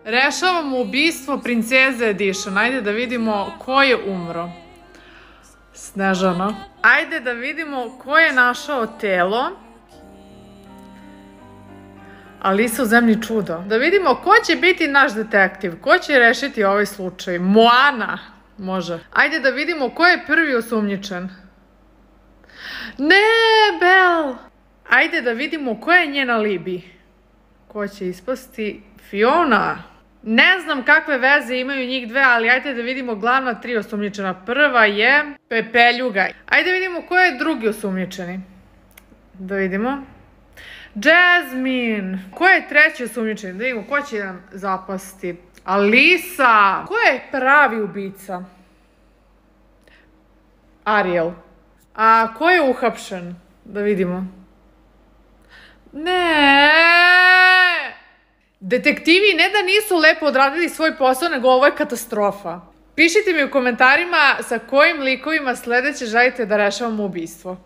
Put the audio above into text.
Rešavamo ubistvo princeze Edition. Ajde da vidimo ko je umro. Snežana. Ajde da vidimo ko je našao telo. Alisa u zemlji čudo. Da vidimo ko će biti naš detektiv. Ko će rešiti ovaj slučaj. Moana. Može. Ajde da vidimo ko je prvi osumnjičen. Ne, Belle. Ajde da vidimo ko je njen alibi. Ko će ispasti? Fiona. Ne znam kakve veze imaju njih dve, ali ajde da vidimo glavna tri osumnjičena. Prva je Pepeljuga. Ajde da vidimo ko je drugi osumnjičeni. Da vidimo. Jasmine. Ko je treći osumnjičeni? Da vidimo ko će nam zapasti. Alisa. Ko je pravi ubica? Ariel. A ko je uhapšen? Da vidimo. Ne. Detektivi ne da nisu lepo odradili svoj posao, nego ovo je katastrofa. Pišite mi u komentarima sa kojim likovima sledeće želite da rešavamo ubistvo.